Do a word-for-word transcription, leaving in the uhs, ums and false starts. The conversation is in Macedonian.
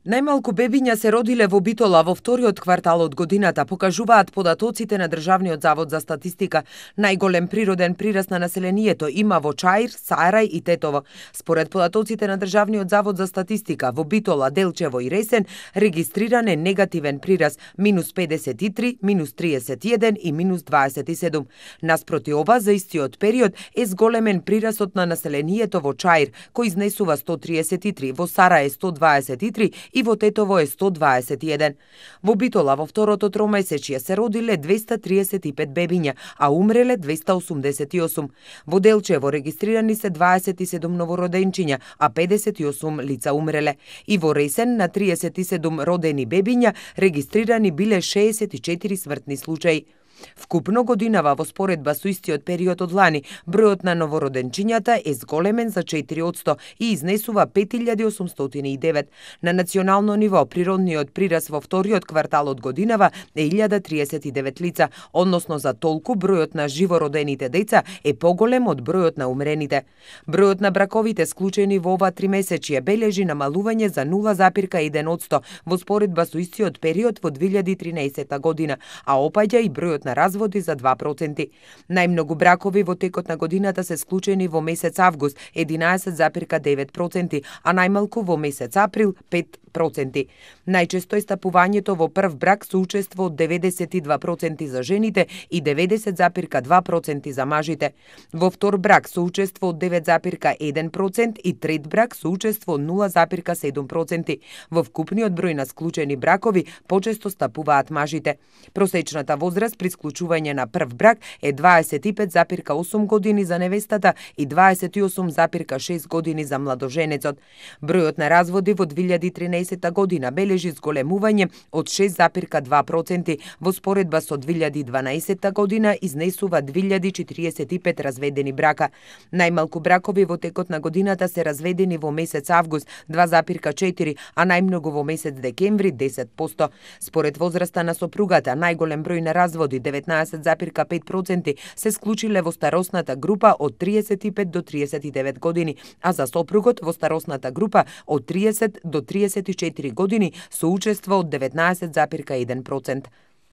Најмалку бебиња се родиле во Битола во вториот квартал од годината, покажуваат податоците на Државниот завод за статистика. Најголем природен прираст на населението има во Чаир, Сарај и Тетово. Според податоците на Државниот завод за статистика, во Битола, Делчево и Ресен регистриран е негативен прираст минус педесет и три, минус триесет и еден и минус дваесет и седум. Наспроти ова, за истиот период е зголемен прирастот на населението во Чаир, кој изнесува сто триесет и три, во Сарај е сто дваесет и три и во Тетово е сто дваесет и еден. Во Битола во второто тромесечје се родиле двеста триесет и пет бебиња, а умреле двеста осумдесет и осум. Во Делчево регистрирани се дваесет и седум новороденчиња, а педесет и осум лица умреле. И во Ресен на триесет и седум родени бебиња регистрирани биле шеесет и четири смртни случаи. Вкупно годинава во споредба со истиот период од лани, бројот на новороденчињата е зголемен за четири одсто и изнесува пет илјади осумстотини и девет. На национално ниво природниот прираст во вториот квартал од годинава е илјада триесет и девет лица, односно за толку бројот на живородените деца е поголем од бројот на умрените. Бројот на браковите склучени во ова тримесечје бележи намалување за нула запирка еден одсто во споредба со истиот период во две илјади и тринаесетта година, а опаѓа и бројот на разводи за два проценти. Најмногу бракови во текот на годината се склучени во месец август единаесет запирка девет проценти, а најмалку во месец април пет проценти. Најчесто е стапувањето во прв брак со учество од деветдесет и два проценти за жените и деветдесет запирка два проценти за мажите. Во втор брак со учество од девет запирка еден процент и трет брак со учество од нула запирка седум проценти. Во вкупниот број на склучени бракови почесто стапуваат мажите. Просечната возраст при склучување на прв брак е дваесет и пет запирка осум години за невестата и дваесет и осум запирка шест години за младоженецот. Бројот на разводи во две илјади и тринаесетта година бележи зголемување од шест запирка два проценти во споредба со две илјади и дванаесетта година изнесува две илјади четириесет и пет разведени брака. Најмалку бракови во текот на годината се разведени во месец август два запирка четири, а најмногу во месец декември десет одсто. Според возраста на сопругата, најголем број на разводи деветнаесет запирка пет проценти се склучиле во старосната група од триесет и пет до триесет и девет години, а за сопругот во старосната група од триесет до триесет и четири години со учество од деветнаесет запирка еден процент.